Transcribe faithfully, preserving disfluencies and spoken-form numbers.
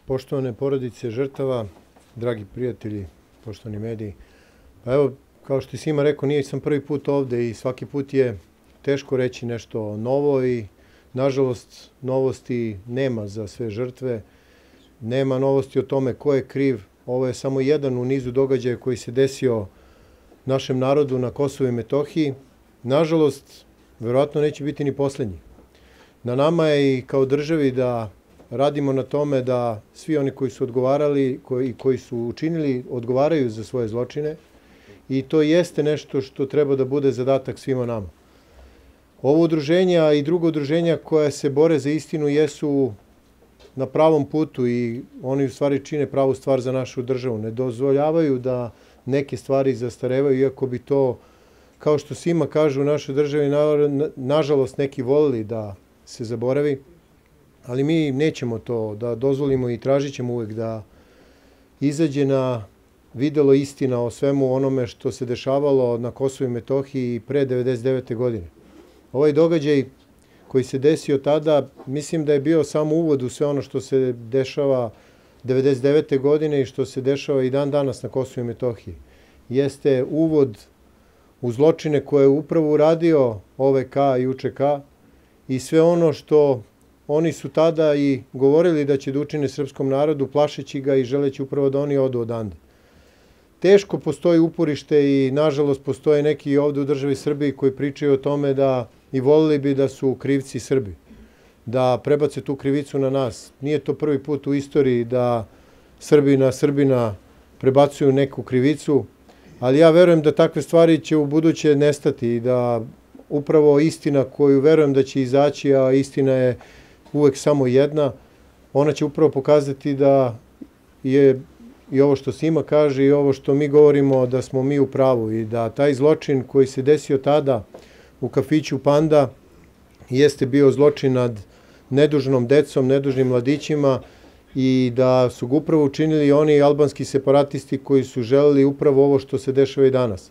Poštovane porodice žrtava, dragi prijatelji, poštovani mediji, pa evo, kao što je Sima rekao, nije sam prvi put ovde i svaki put je teško reći nešto novo i, nažalost, novosti nema za sve žrtve, nema novosti o tome ko je kriv. Ovo je samo jedan u nizu događaja koji se desio našem narodu na Kosovu i Metohiji. Nažalost, verovatno neće biti ni poslednji. Na nama je i kao državi da radimo na tome da svi oni koji su odgovarali i koji su učinili odgovaraju za svoje zločine i to jeste nešto što treba da bude zadatak svima nama. Ovo udruženje, a i druga udruženja koja se bore za istinu jesu na pravom putu i oni u stvari čine pravu stvar za našu državu. Ne dozvoljavaju da neke stvari zastarevaju, iako bi to, kao što Sima kaže, u našoj državi, nažalost, neki volili da se zaboravi, ali mi nećemo to da dozvolimo i tražit ćemo uvek da izađe na videlo istina o svemu onome što se dešavalo na Kosovu i Metohiji pre devedeset devete. godine. Ovaj događaj koji se desio tada, mislim da je bio samo uvod u sve ono što se dešava devedeset devete. godine i što se dešava i dan danas na Kosovu i Metohiji. Jeste uvod u zločine koje je upravo uradio O V K i U Č K i sve ono što oni su tada i govorili da će da učine srpskom narodu, plašeći ga i želeći upravo da oni odu odande. Teško postoji uporište i, nažalost, postoje neki ovde u državi Srbiji koji pričaju o tome da i volili bi da su krivci Srbi, da prebace tu krivicu na nas. Nije to prvi put u istoriji da Srbi na Srbina prebacuju neku krivicu, ali ja verujem da takve stvari će u buduće nestati i da upravo istina koju verujem da će izaći, a istina je uvek samo jedna, ona će upravo pokazati da je i ovo što Sima kaže i ovo što mi govorimo da smo mi u pravu i da taj zločin koji se desio tada u kafiću Panda jeste bio zločin nad nedužnom decom, nedužnim mladićima i da su ga upravo učinili oni albanski separatisti koji su želeli upravo ovo što se dešava i danas.